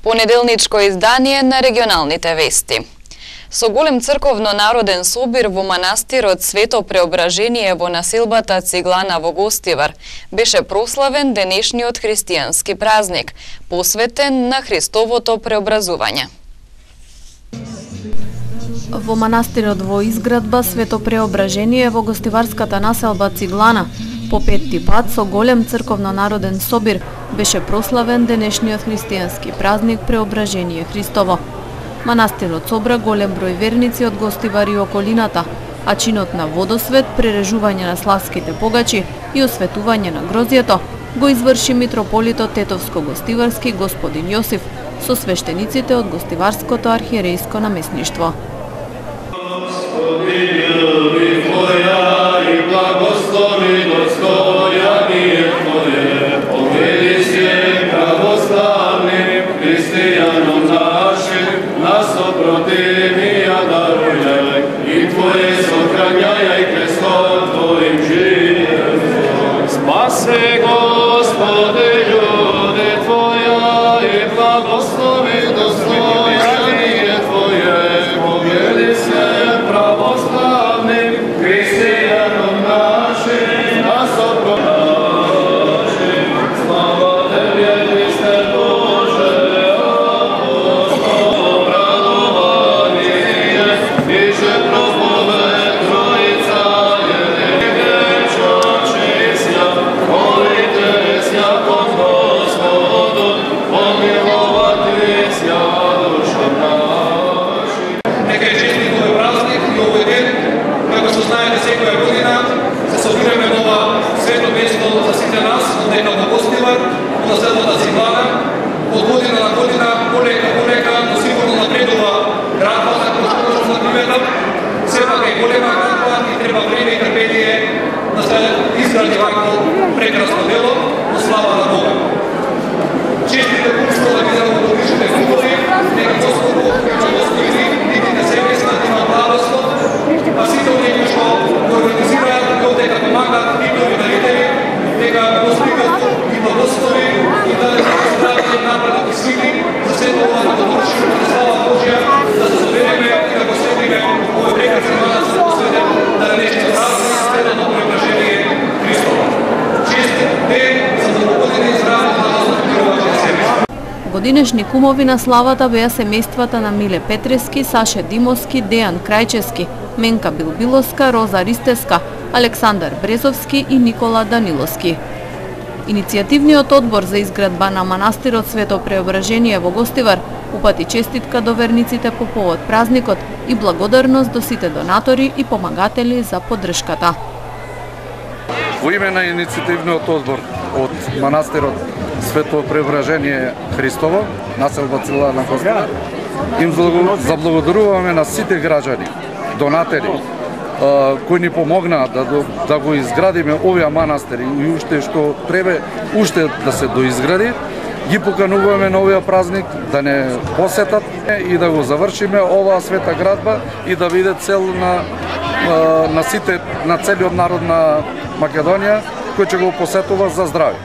Понеделничко издание на регионалните вести. Со голем црковно-народен собир во манастирот Свето Преображение во населбата Циглана во Гостивар беше прославен денешниот христијански празник, посветен на Христовото преобразување. Во манастирот во изградба Свето Преображение во гостиварската населба Циглана по петти пат со голем црковно-народен собир беше прославен денешниот христијански празник Преображение Христово. Манастирот собра голем број верници од Гостивар и околината, а чинот на водосвет, прережување на славските погачи и осветување на грозјето го изврши митрополитот Тетовско-Гостиварски господин Јосиф со свештениците од Гостиварското архиерејско наместништво. Спаси, Господи, люди Твоя, и благослови достояние Твое, повели се православним христијаном нашим, на сопротивнашим. Слава Тебе, Христе Боже, апостол, радование, и же проповед Троица, населбата Циглана, од година на година, полека, но сигурно напредува градба на кој на примета. Сепак е голема градба и треба време и трпение да се изгради вакво прекрасно дело, во слава на Бога. Честите пунство да ги замоторишите хубави, нека Господу ќе достои нити на себе и на благослов, а сите оние што го организираат и дека помагаат нивни дарители, дека Господот ги благослови и да не страдат напред и сили за сето ова да довршиме на слава Божја, да се собереме и да го следиме овој прекрасен манас посветен на денешниот празник Светото Преображение Христово. Честит ден за многогодини здраве на Господ себе. Годинешни кумови на славата беа семејствата на Миле Петрески, Саше Димовски, Дејан Крајчевски, Менка Билбиловска, Роза Ристевска, Александар Брезовски и Никола Даниловски. Иницијативниот одбор за изградба на манастирот Свето Преображение во Гостивар упати честитка до верниците по повод празникот и благодарност до сите донатори и помагатели за поддршката. Во име на иницијативниот одбор од манастирот Свето Преображение Христово, населба Циглана на Гостивар, им заблагодаруваме на сите граѓани, донатери, кои ни помогнаа да го изградиме овие манастири и уште што треба уште да се доизгради. Ги покануваме на овој празник да не посетат и да го завршиме оваа света градба и да биде цел на сите, на целиот народ на Македонија кој ќе го посетува за здраве.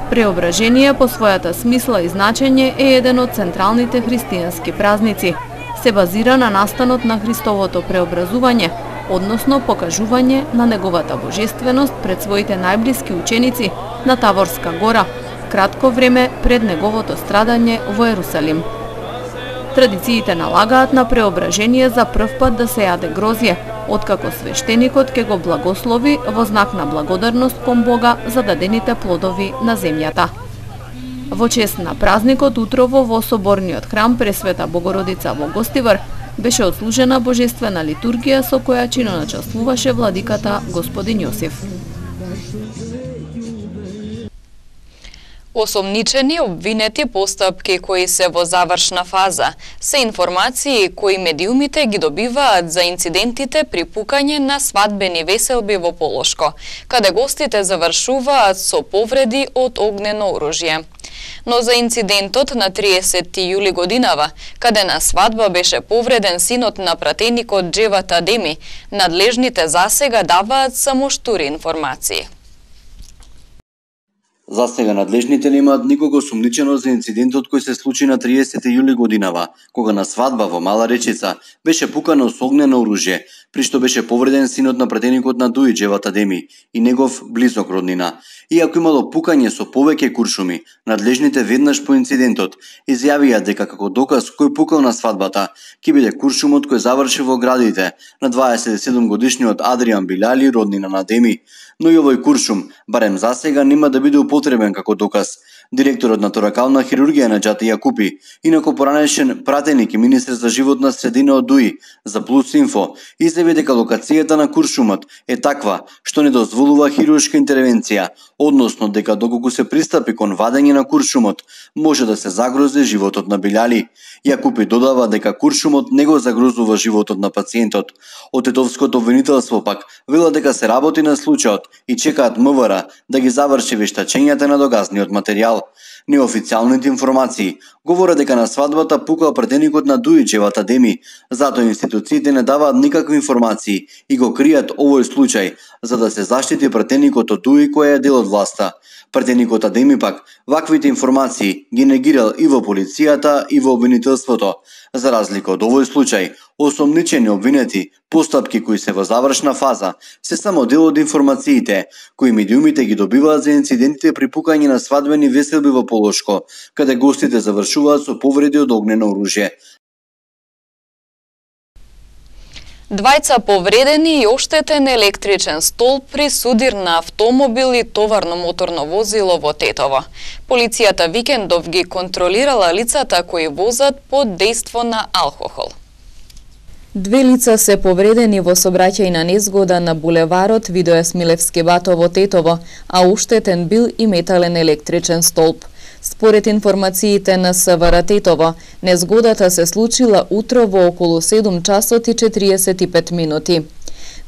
Преображение по својата смисла и значење е еден од централните христијански празници. Се базира на настанот на Христовото преобразување, односно покажување на неговата божественост пред своите најблиски ученици на Таворска гора, кратко време пред неговото страдање во Ерусалим. Традициите налагаат на преображение за прв пат да се јаде грозје, откако свештеникот ќе го благослови во знак на благодарност кон Бога за дадените плодови на земјата. Во чест на празникот утрово во соборниот храм Пресвета Богородица во Гостивар беше отслужена божествена литургија со која чиноначествуваше владиката господин Јосиф. Осомничени, обвинети, постапки кои се во завршна фаза се информации кои медиумите ги добиваат за инцидентите при пукање на свадбени веселби во Полошко, каде гостите завршуваат со повреди од огнено оружје. Но за инцидентот на 30 јули годинава, каде на свадба беше повреден синот на пратеникот Джеват Адеми, надлежните засега даваат само штури информации. За сега надлежните немаат никого сумничено за инцидентот кој се случи на 30 јули годинава, кога на свадба во Мала Речица беше пукано со огнено оружје, при што беше повреден синот на пратеникот на Дуи Џеват Адеми и негов близок роднина. Иако имало пукање со повеќе куршуми, надлежните веднаш по инцидентот изјавија дека како доказ кој пукал на свадбата ќе биде куршумот кој заврши во градите на 27 годишниот Адриан Билали, роднина на Адеми. Но и овој куршум, барем за сега, нема да биде употребен како доказ. Директорот на торакална хирургија Наџати Јакупи, инаку поранешен пратеник и министер за животна средина од Дуи, за Плюс Инфо, изјави дека локацијата на куршумот е таква што не дозволува хируршка интервенција, односно дека доколку се пристапи кон вадење на куршумот, може да се загрози животот на Билали. Јакупи додава дека куршумот не го загрозува животот на пациентот. Од тетовското обвинителство пак велат дека се работи на случајот и чекаат МВР да ги заврши вештачењата на догазниот материјал. Неофицијалните информации говорат дека на свадбата пукал пратеникот на Дуи Џеват Адеми, затоа институциите не даваат никакви информации и го кријат овој случај за да се заштити пратеникот од Дуи кој е дел од власта. Пратеникот Адеми пак ваквите информации ги негирал и во полицијата и во обвинителството. За разлика од овој случај, осомничени обвинети, постапки кои се во завршна фаза, се само дел од информациите кои медиумите ги добиваат за инцидентите при пукање на свадбени веселби во Полошко, каде гостите завршуваат со повреди од огнено оружје. Двајца повредени и оштетен електричен столб при судир на автомобил и товарно моторно возило во Тетово. Полицијата викендов ги контролирала лицата кои возат под дејство на алкохол. Две лица се повредени во сообраќајна незгода на булеварот Видое Смилевски бато во Тетово, а оштетен бил и метален електричен столб. Според информациите на СВР Тетово, незгодата се случила утро во околу 7 часот и 45 минути.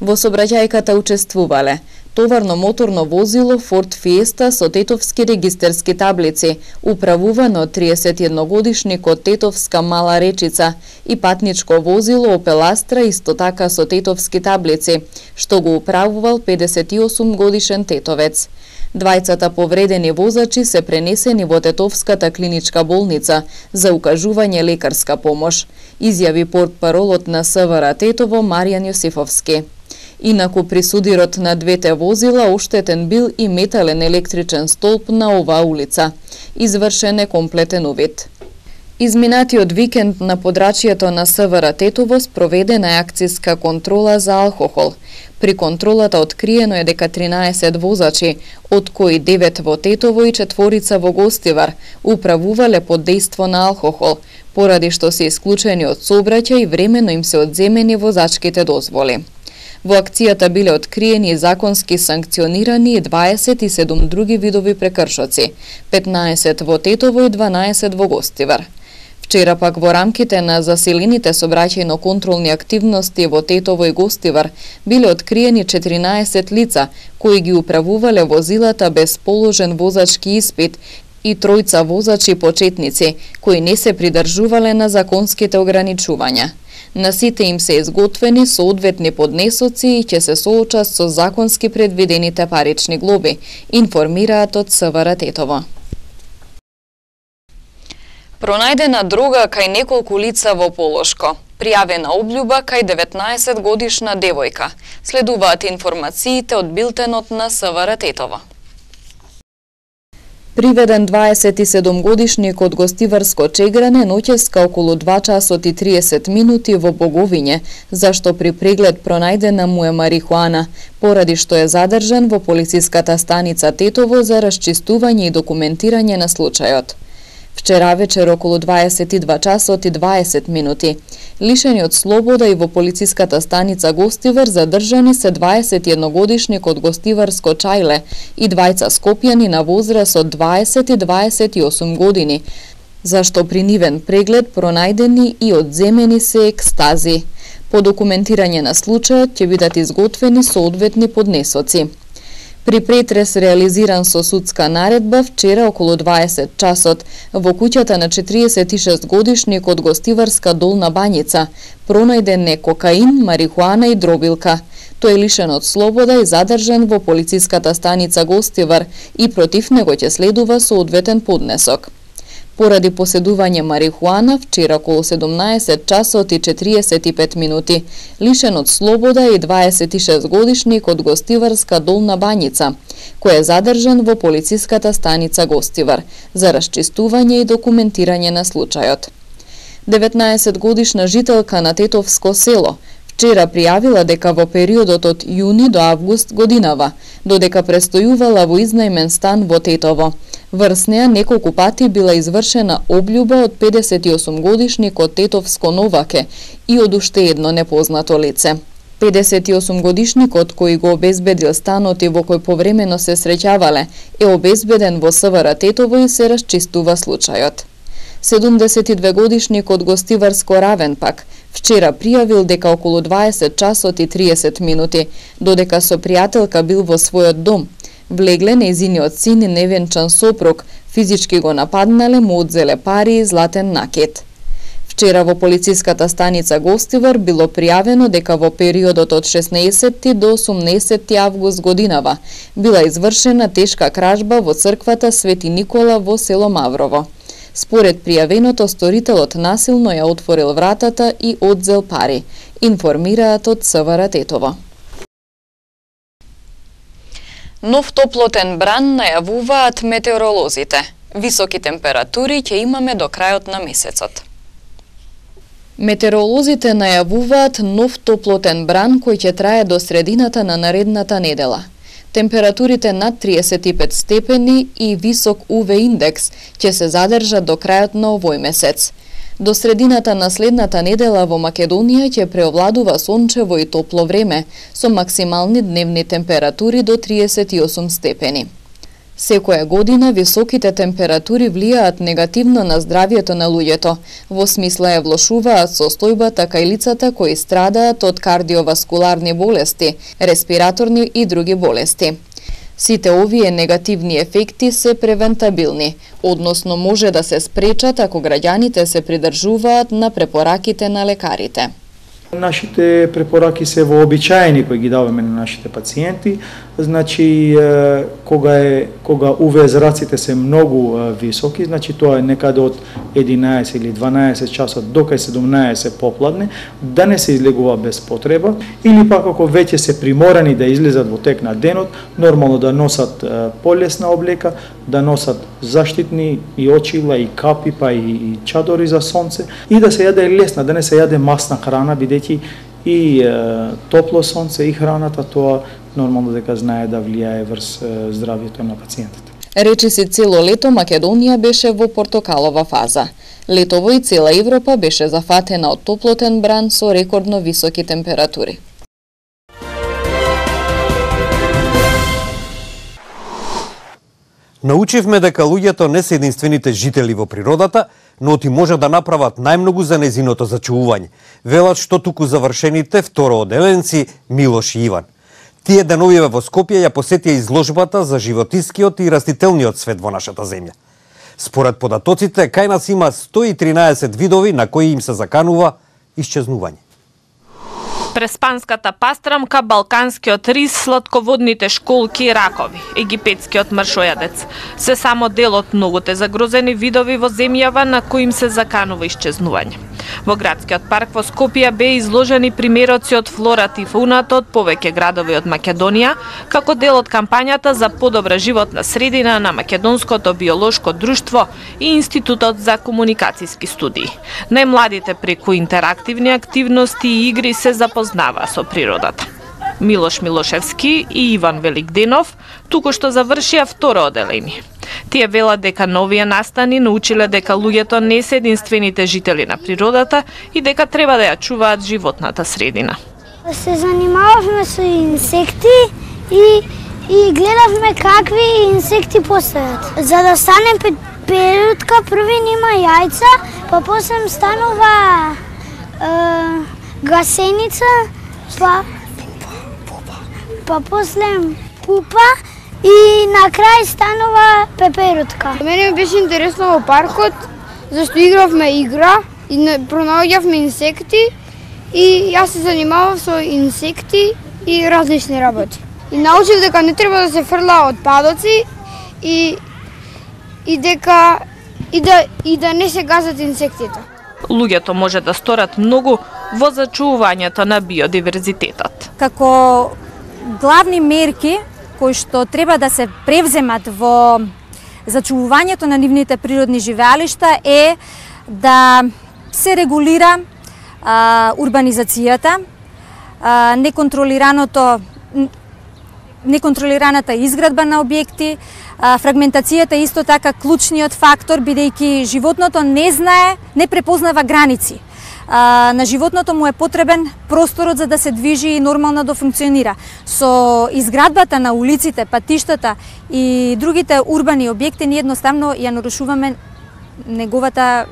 Во сообраќајката учествувале товарно моторно возило Форд Фиеста со тетовски регистерски таблици, управувано од 31 годишникот Тетовска Мала Речица, и патничко возило Опел Астра исто така со тетовски таблици, што го управувал 58 годишен тетовец. Двајцата повредени возачи се пренесени во Тетовската клиничка болница за укажување лекарска помош, изјави портпаролот на СВР Тетово Маријан Јосифовски. Инаку при судирот на двете возила оштетен бил и метален електричен столб на оваа улица. Извршен е комплетен увид. Изминатиот викенд на подрачјето на СВР Тетово спроведена е акцијска контрола за алкохол. При контролата откриено е дека 13 возачи, од кои 9 во Тетово и 4 во Гостивар, управувале под дејство на алкохол, поради што се исклучени од сообраќај и времено им се одземени возачките дозволи. Во акцијата биле откриени законски санкционирани и 27 други видови прекршоци, 15 во Тетово и 12 во Гостивар. Вчера пак во рамките на засилените сообраќајно-контролни активности во Тетово и Гостивар биле откриени 14 лица кои ги управувале возилата без положен возачки испит и 3 возачи почетници кои не се придржувале на законските ограничувања. На сите им се изготвени соодветни поднесоци и ќе се соочат со законски предвидените парични глоби, информираат од СВР Тетово. Пронајдена дрога кај неколку лица во Полошко. Пријавена облјуба кај 19 годишна девојка. Следуваат информациите од билтенот на СВР Тетово. Приведен 27 годишник од Гостиварско Чегране ноќеска околу 2 часот и 30 минути во Боговиње, зашто при преглед пронајдена му е марихуана, поради што е задржан во полициската станица Тетово за расчистување и документирање на случајот. Вчера вечер околу 22 часот и 20 минути. Лишени од слобода и во полициската станица Гостивар задржани се 21 годишник од Гостиварско Чајле и двајца скопјани на возраст од 20 и 28 години, зашто при нивен преглед пронајдени и одземени се екстази. По документирање на случајот ќе бидат изготвени соодветни поднесоци. При претрес реализиран со судска наредба вчера околу 20 часот во куќата на 46 годишник од Гостиварска Долна Бањица пронајден е кокаин, марихуана и дробилка. Тој е лишен од слобода и задржан во полициската станица Гостивар и против него ќе следува соодветен поднесок. Поради поседување марихуана, вчера околу 17 часот и 45 минути, лишен од слобода и 26 годишник од Гостиварска Долна Бањица, кој е задржан во полициската станица Гостивар за расчистување и документирање на случајот. 19 годишна жителка на Тетовско село вчера пријавила дека во периодот од јуни до август годинава, додека престојувала во изнајмен стан во Тетово. Врз неа неколку пати била извршена облјуба од 58 годишник од Тетовско Новаке и од уште едно непознато лице. 58 годишникот кој го обезбедил станот и во кој повремено се среќавале е обезбеден во СВР Тетово и се расчистува случајот. 72 годишник од Гостиварско Равен пак вчера пријавил дека околу 20 часот и 30 минути, додека со пријателка бил во својот дом, влегле нејзиниот син и невенчан сопруг, физички го нападнале, му одзеле пари и златен накет. Вчера во полициската станица Гостивар било пријавено дека во периодот од 16 до 18 август годинава била извршена тешка кражба во црквата Свети Никола во село Маврово. Според пријавеното, сторителот насилно ја отворил вратата и одзел пари, информираат од СВР Тетово. Нов топлотен бран најавуваат метеоролозите. Високи температури ќе имаме до крајот на месецот. Метеоролозите најавуваат нов топлотен бран кој ќе трае до средината на наредната недела. Температурите над 35 степени и висок УВ индекс ќе се задржат до крајот на овој месец. До средината на следната недела во Македонија ќе преовладува сончево и топло време, со максимални дневни температури до 38 степени. Секоја година високите температури влијаат негативно на здравјето на луѓето, во смисла ја влошуваат состојбата кај лицата кои страдаат од кардиоваскуларни болести, респираторни и други болести. Сите овие негативни ефекти се превентабилни, односно може да се спречат ако граѓаните се придржуваат на препораките на лекарите. Нашите препораки се вообичаени кои ги даваме на нашите пациенти. Значи, кога УВ зраците се многу високи, значи тоа е некаде од 11 или 12 часот до кај 17 попладне, да не се излегува без потреба, или пак ако веќе се приморани да излезат во тек на денот, нормално да носат полесна облека, да носат заштитни и очила, и капи, па и чадори за сонце, и да се јаде лесна, да не се јаде масна храна, бидејќи и топло сонце и храната, тоа нормално дека знае да влијае врз здравјето на пациентите. Речиси цело лето Македонија беше во портокалова фаза. Летово и цела Европа беше зафатена од топлотен бран со рекордно високи температури. Научивме дека луѓето не се единствените жители во природата, но ти може да направат најмногу за незиното зачувување, велат што туку завршените второоделенци Милош и Иван. Тие деновиве во Скопје ја посетија изложбата за животинскиот и растителниот свет во нашата земја. Според податоците, кај нас има 113 видови на кои им се заканува исчезнување. Преспанската пастрамка, балканскиот рис, сладководните школки и ракови, египетскиот мршојадец. Се само дел од многуте загрозени видови во земјава на кои им се заканува исчезнување. Во градскиот парк во Скопје беа изложени примероци од флората и фауната од повеќе градови од Македонија, како дел од кампањата за подобра животна средина на Македонското биолошко друштво и Институтот за комуникацијски студии. Најмладите преку интерактивни активности и игри се запознаваа со природата. Милош Милошевски и Иван Великденов токошто завршија второ оделение. Тие велат дека на овие настани научиле дека луѓето не се единствените жители на природата и дека треба да ја чуваат животната средина. Се занимававме со инсекти и гледавме какви инсекти постојат. За да стане перутка, први нема јајца, па после станува гасеница, па после пупа и на крај станува пеперутка. Мене ми беше интересно во паркот, зашто игравме игра и пронаоѓавме инсекти и јас се занимавав со инсекти и различни работи. И научив дека не треба да се фрла отпадоци и да не се газат инсектите. Луѓето може да сторат многу во зачувувањето на биодиверзитетот. Како главни мерки кои што треба да се превземат во зачувувањето на нивните природни живеалишта е да се регулира урбанизацијата, неконтролираната изградба на објекти, фрагментацијата е исто така клучниот фактор, бидејќи животното не препознава граници. На животното му е потребен просторот за да се движи и нормално да функционира. Со изградбата на улиците, патиштата и другите урбани објекти ние едноставно ја нарушуваме неговата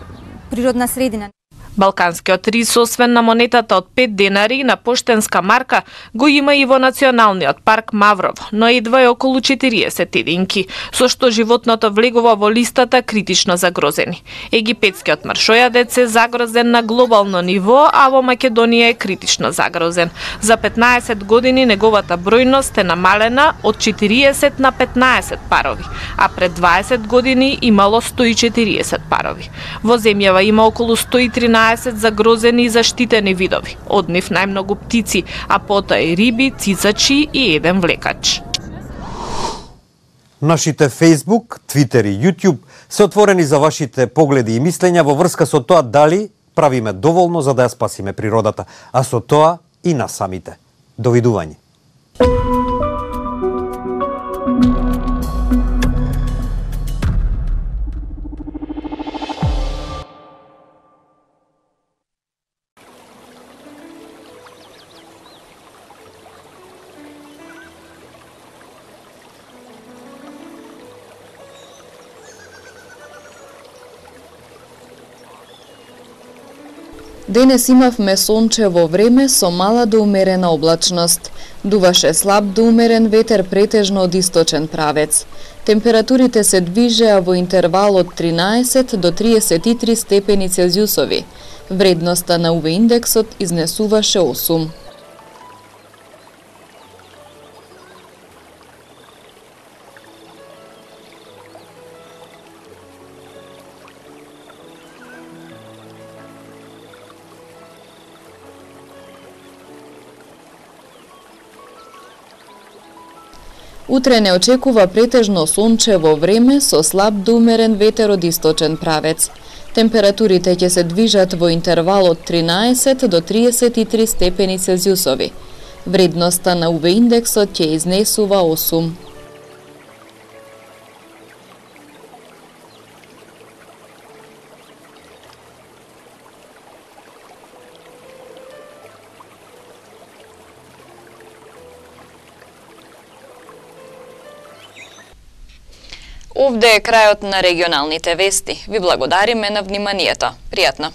природна средина. Балканскиот рис, освен на монетата од 5 денари и на поштенска марка, го има и во Националниот парк Мавров, но едва е околу 40 единки, со што животното влегува во листата критично загрозени. Египетскиот мршојадец е загрозен на глобално ниво, а во Македонија е критично загрозен. За 15 години неговата бројност е намалена од 40 на 15 парови, а пред 20 години имало 140 парови. Во земјава има околу 113 загрозени и заштитени видови, од нив најмногу птици, а потоа и риби, цицачи и еден влекач. Нашите Facebook, Twitter и YouTube се отворени за вашите погледи и мислења во врска со тоа дали правиме доволно за да ја спасиме природата, а со тоа и нас самите. Довидување. Денес имавме сончево време со мала до умерена облачност. Дуваше слаб до умерен ветер претежно од источен правец. Температурите се движеа во интервал од 13 до 33 степени Целзиусови. Вредноста на UV индексот изнесуваше 8. Утре не очекува претежно сончево време со слаб до умерен ветер од источен правец. Температурите ќе се движат во интервал од 13 до 33 степени Целзиусови. Вредноста на UV индексот ќе изнесува 8. Овде е крајот на регионалните вести. Ви благодариме на вниманието. Пријатно!